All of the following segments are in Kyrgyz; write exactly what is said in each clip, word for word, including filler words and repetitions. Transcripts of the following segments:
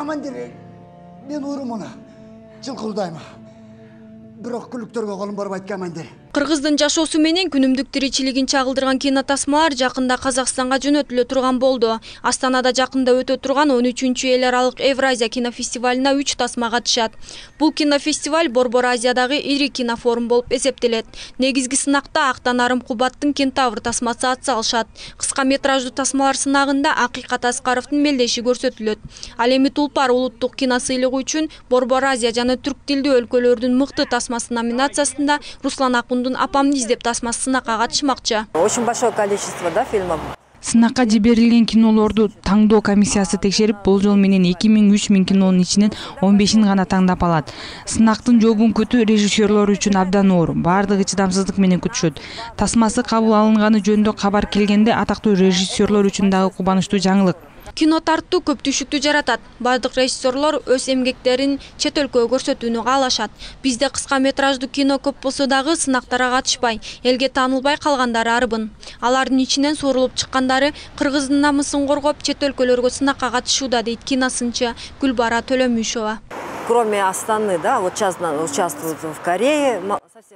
командир, мен урумуна жылкылдайм. Бирок күлүктөргө колум барбайт, командир. Кыргыздын жашоосу менен күнүмдүк тиричилигин чагылдырган кинотасмалар жакында Казакстанга жөнөтүлө турган болду. Астанада жакында өтө турган он үчүнчү эл аралык Евразия кинофестивалына үч тасма катышат. Бул кинофестиваль Борбор Азиядагы ири кинофорум болуп эсептелет. Негизги сынакта Актан Арым Кубаттын Кентавр тасмасы атсалышат. Кыска метраждуу тасмалар сынагында Акыйкат Аскаровдун мелдеши көрсөтүлөт. Ал эми Тулпар улуттук кино сыйлыгы үчүн Борбор Азия жана түрк тилдүү өлкөлөрдүн мыкты тасмасы номинациясында Руслан Акундун «Апамды издеп» тасмасы сынакка катышмакчы. Очень большое количество, да, фильмов. Сынакка жиберилген кинолорду таңдоо комиссиясы текшерип, болжол менен эки миң үч миң кинонун ичинен он бешин гана таңдап алат. Сынактын жообун күтүү режиссерлор үчүн абдан оор. Бардыгы чыдамсыздык менен күтүшөт. Тасмасы кабыл алынганы жөнүндө кабар келгенде атактуу режиссерлор үчүн дагы кубанычтуу жаңылык. Кино тартуу көп түшүктү жаратат. Бардык режиссерлор өз эмгектерин чет өлкөгө көрсөтүүнү каалашат. Бизде кыска метраждуу кино көп болсо дагы сынактарга катышпай, элге таанылбай калгандары арбын. Алардын ичинен суурулуп чыккандары кыргыздын намысын коргоп, чет өлкөлөргө сынакка катышууда, дейт киносынчы Гүлбара Төлөмүшова. Кроме Астаны, да, вот сейчас участвуют в Корее.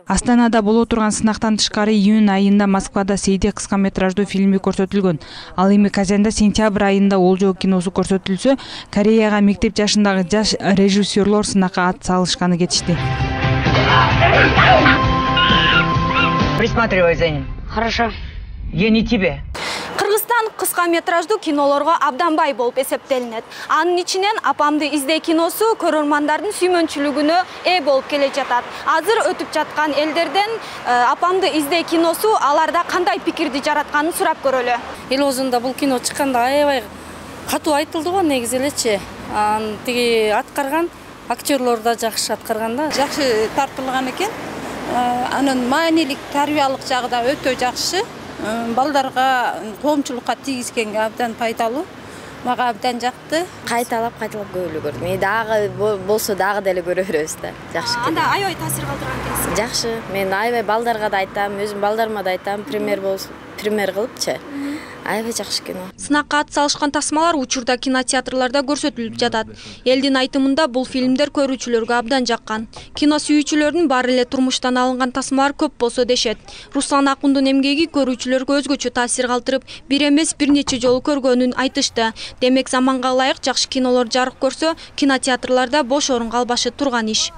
Астанада боло турган сынактан тышкары июнь айында Москвада Сейде кыска метраждуу фильми көрсөтүлгөн. Ал эми Казанда сентябрь айында Олжоо киносу көрсөтүлсө, Кореяга мектеп жашындагы жаш режиссерлор сынакка ат салышканы кетишти. Присматривай за ним. Хорошо. Я не тебе. Кыргызстан кыска метраждуу кинолорго абдан бай болуп эсептелинет. Анын ичинен «Апамды изде» киносу көрөрмандардын сүймөнчүлүгүнө ээ болуп келе жатат. Азыр өтүп жаткан элдерден «Апамды изде» киносу аларда кандай пикирди жаратканын сурап көрөлү. Эл оозунда бул кино чыкканда аябай катуу айтылды го, негизи элечи. Анын тиги аткарган актерлор да жакшы аткарган да. Жакшы тартылган экен. Анын маанилик, тарбиялык жагы да өтө жакшы. Балдарга коомчулукка тийгизгенге абдан пайдалуу. Мага абдан жакты. Кайталап кайталап көрүлүп көрдүм. Мен дагы болсо дагы деле көрө беребиз да. Жакшы кино. Анда аябай таасир калтырган экенсиз. Жакшы. Мен аябай балдарга да айтам, өзүм балдарыма да айтам, пример болсун, пример кылыпчы. Аябай жакшы кино. Сынакка ат салышкан тасмалар учурда кинотеатрларда көрсөтүлүп жатат. Элдин айтымында бул фильмдер көрүүчүлөргө абдан жаккан. Кино сүйүүчүлөрдүн баары эле турмуштан алынган тасмалар көп болсо дешет. Руслан Акундун эмгеги көрүүчүлөргө өзгөчө таасир калтырып, бир эмес бир нече жолу көргөнүн айтышты. Демек заманга ылайык жакшы кинолор жарык көрсө, кинотеатрларда бош орун калбашы турган иш.